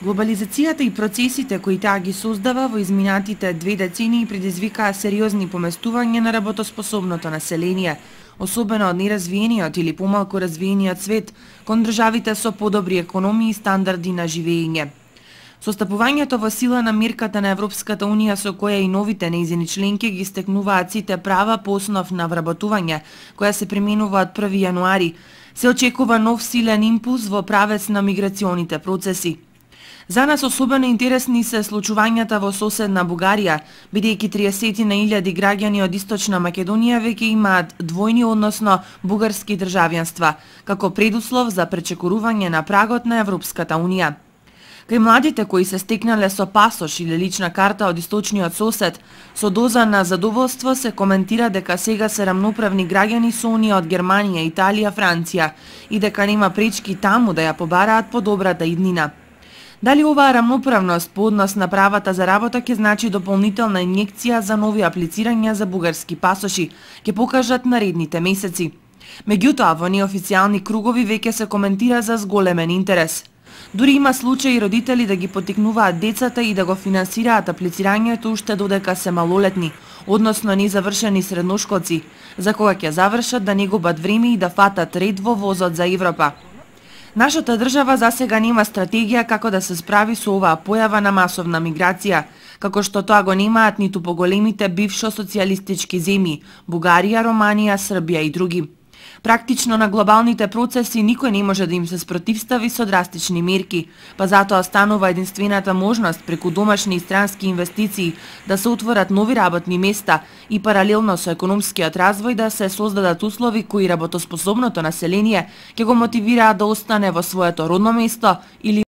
Глобализацијата и процесите кои таа ги создава во изминатите 2 децении предизвикаа сериозни поместувања на работоспособното население, особено од неразвиениот или помалку развиениот свет, кон државите со подобри економии и стандарди на живење. Состапувањето во сила на мерката на Европската Унија со која и новите нејзини членки ги стекнуваат сите права по основ на вработување, која се применува од 1 јануари, се очекува нов силен импулс во правец на миграционите процеси. За нас особено интересни се случувањата во соседна Бугарија, бидејќи 30.000 граѓани од Источна Македонија веќе имаат двојни, односно бугарски државјанства, како предуслов за пречекорување на прагот на Европската Унија. Кај младите кои се стекнале со пасош или лична карта од источниот сосед, со доза на задоволство се коментира дека сега се рамноправни граѓани со оние од Германија, Италија, Франција и дека нема пречки таму да ја побараат подобрата иднина. Дали оваа рамноправност по однос на правата за работа ќе значи дополнителна инјекција за нови аплицирања за бугарски пасоши, ќе покажат наредните месеци. Меѓутоа, во неофицијални кругови веќе се коментира за зголемен интерес. Дури има случаи родители да ги поттикнуваат децата и да го финансираат аплицирањето уште додека се малолетни, односно незавршени средношколци, за кога ќе завршат да не губат време и да фатат ред во возот за Европа. Нашата држава засега нема стратегија како да се справи со оваа појава на масовна миграција, како што тоа го немаат ниту поголемите бившо социјалистички земји – Бугарија, Романија, Србија и други. Практично на глобалните процеси никој не може да им се спротивстави со драстични мерки, па затоа станува единствената можност преку домашни и странски инвестиции да се отворат нови работни места и паралелно со економскиот развој да се создадат услови кои работоспособното население ќе го мотивираат да остане во своето родно место или